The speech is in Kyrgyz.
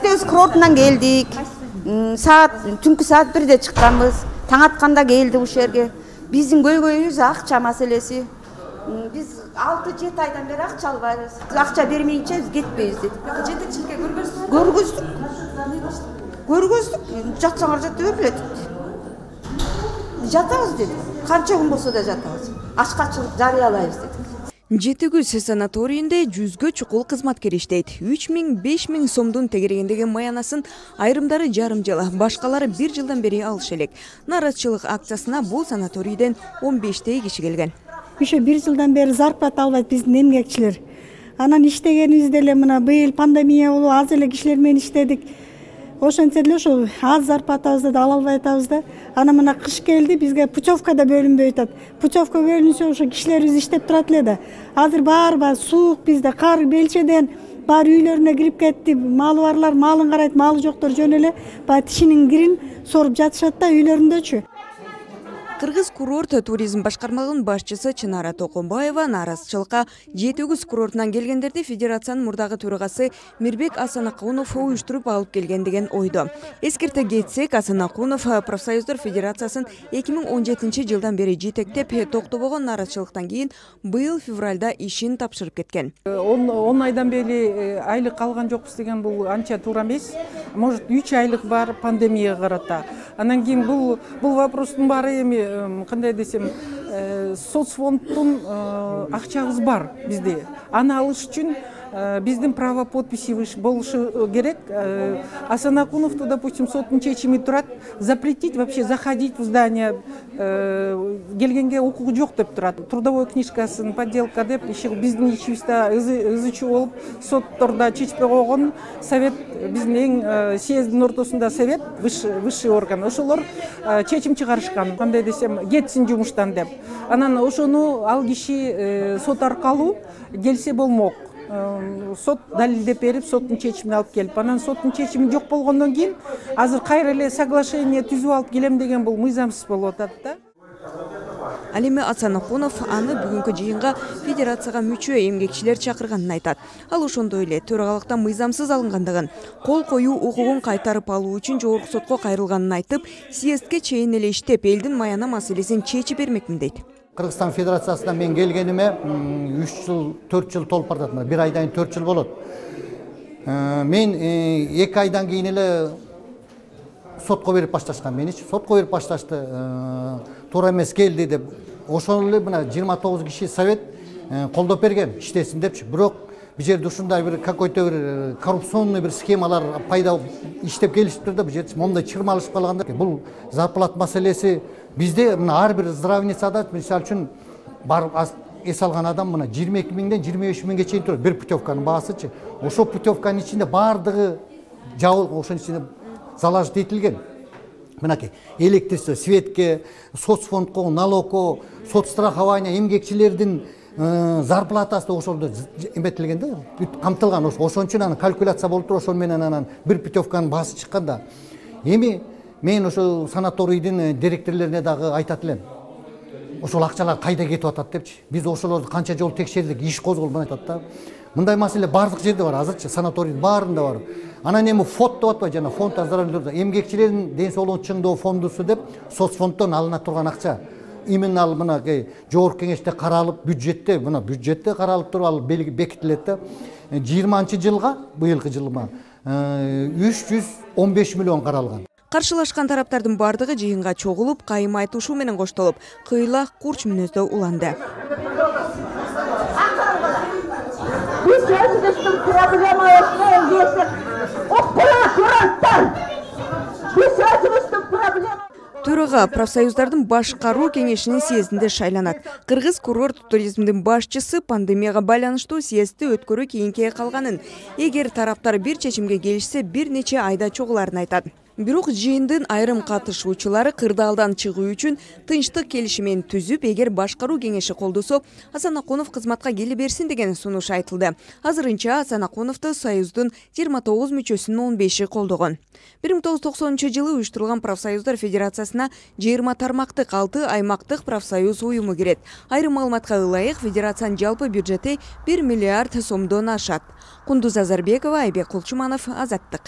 жетегиз курортунан келдик. Түнкү саат 1-де чыкканбыз. Таң атканда келдик ушул жерге. Биздин көйгөйүбүз акча маселеси. Биз 6-7 айдан бери акча албайбыз. Акча бермейинче биз кетпейбиз дедик. Жетекчиликке көргөзсүңүз? Көргөздүк. Жатсаңар жата бергиле депти. Жатабыз дедик. Канча күн болсо да жатабыз. Ачкачылык жарыялайбыз дедик. Жетегүз санаторийинде 100гө чукул кызматкер иштейт. 3000–5000 сомдун тегерегиндеги маянасын айрымдары жарым жыл, башкалары 1 жылдан бери алыш элек. Наразычылык акциясына бул санаторийден 15 киши келген. Ошо 1 жылдан бери зарплата албайт биздин эмгекчилер. Анан иштегенибиз деле мына быйыл пандемия болуп аз эле кишилер менен иштедик. Ошентсе деле ошо аз зарплатабызды да ала албай атабыз да. Анан мына кыш келди, бизге путевка да бөлүнбөй атат. Путевка бөлүнсө ошо кишилерибиз иштеп турат эле да. Азыр баары суук бизде, кар белчеден баары үйлөрүнө кирип кетти. Малы барлар малын карайт, малы жоктор жөн эле баягы тишинин кирин соруп жатышат да үйлөрүндөчү. Кыргыз курорт туризм башкармалыгынын башчысы Чынара Токонбаева наразычылыкка Жетегүз курортунан келгендерди федерациянын мурдагы төрагасы Мирбек Асанакунов уюштуруп алып келген деген ойдо. Эскерте кетсек, Асанакунов профсоюздар федерациясын 2017 жылдан бери жетектеп, токтобогон наразычылыктан кийин быйыл февралда ишин тапшырып кеткен. 10 айдан бери айлык алган жокпуз деген бул анча туура эмес. Может 3 айлык бар пандемияга карата. Анан кийин бул вопростун баары эми кандай десем, соцфонддун акчабыз бар бизде. Аны алыш үчүн биздин право подписи болушу керек. Асанакуновду, допустим, соттун чечими турат, запретить вообще заходить в здание, келгенге укугу жок деп турат. Трудовой книжкасын подделка деп биздин ичибизде ызычуу болуп, соттордо чечпей койгон совет, биздин эң съездин ортосунда совет, высший орган. Ошолор чечим чыгарышкан, кандай десем, кетсин жумуштан деп. Анан ошону ал киши сот аркылуу келсе болмок. Сот далилдеп берип, соттун чечимин алып келип, анан соттун чечими жок болгондон кийин азыр кайра эле соглашение түзүп алып келем деген бул мыйзамсыз болуп атат да. Ал эми Асанакунов аны бүгүнкү жыйынга федерацияга мүчө эмгекчилер чакырганын айтат. Ал ошондой эле төрагылыктан мыйзамсыз алынгандыгын, кол коюу укугун кайтарып алуу үчүн жогорку сотко кайрылганын айтып, съездге чейин эле иштеп, элдин маяна маселесин чечип бермекмин дейт. Кыргызстан Федерациясынан мен келгениме 3 жыл, 4 жыл толуп барат. 1 айдан 4 жыл болот. Мен 2 айдан кийин эле сотко берип башташкан. Меничи сотко берип башташты. Туура эмес келди деп. Ошол эле мына 29 киши совет колдоп берген, иштесин депчи. Бирок бул жерде ушундай бир какой-то бир коррупционный бир схемалар пайда иштеп келишиптир да, бул жерде моундай чырмалышып калганда. Бул зарплат маселеси бизде мына ар бир здравницада, мисалы үчүн барып эс алган адам мына 22 миңден 25 миңге чейин турат бир путевканын баасычы. Ошол путевканын ичинде бардыгы жабылып, ошонун ичинде залажды этилген. Мынакей электричество, светке, соцфондко, налогко, соцстрахование, эмгекчилердин зарплатасы ошолдо эметилген да, камтылган. Ошон үчүн анан калькуляция болуп туруп, ошол менен анан бир путевканын баасы чыкканда. Эми мен ошо санаторийдин директорлоруна дагы айтат элем. Ошол акчалар кайда кетип атат депчи. Биз ошолорду канча жолу текшердик, иш козголбой атат да. Мындай маселе бардык жерде бар, азырчы санаторийдин баарында бар. Анан эми фонд деп атпайбы, жана фонд оздоровления, эмгекчилердин ден соолугун чыңдоо фондусу деп соцфонддон алына турган акча. Именно ал мынакей жогорку кеңеште каралып, бюджетте каралып туруп ал бекитилет да. 20-жылга, быйылкы жылга 315 миллион каралган. Каршылашкан тараптардын бардыгы жыйынга чогулуп, кайым айтышуу менен коштолуп, кыйла курч мүнөздө уланды. Төрага профсоюздардын башкаруу кеңешинин съездинде шайланат. Кыргыз курорт туризмдин башчысы пандемияга байланыштуу съездди өткөрүү кийинке калганын, эгер тараптар бир чечимге келишсе, бир нече айда чогуларын айтат. Бирок жыйындын айрым катышуучулары кырдаалдан чыгуу үчүн тынчтык келишимин түзүп, эгер башкаруу кеңеши колдосо, Асанакунов кызматка келе берсин деген сунуш айтылды. Азырынча Асанакуновду союздун 29 мүчөсүнүн 15-и колдогон. 1990 жылы уюштурулган профсоюздар федерациясына 20 тармактык 6 аймактык профсоюз уюму кирет. Айрым маалыматка ылайык, федерациянын жалпы бюджети 1 миллиард сомдон ашат. Кундуз Азарбекова, Айбек Кулчуманов, Азаттык.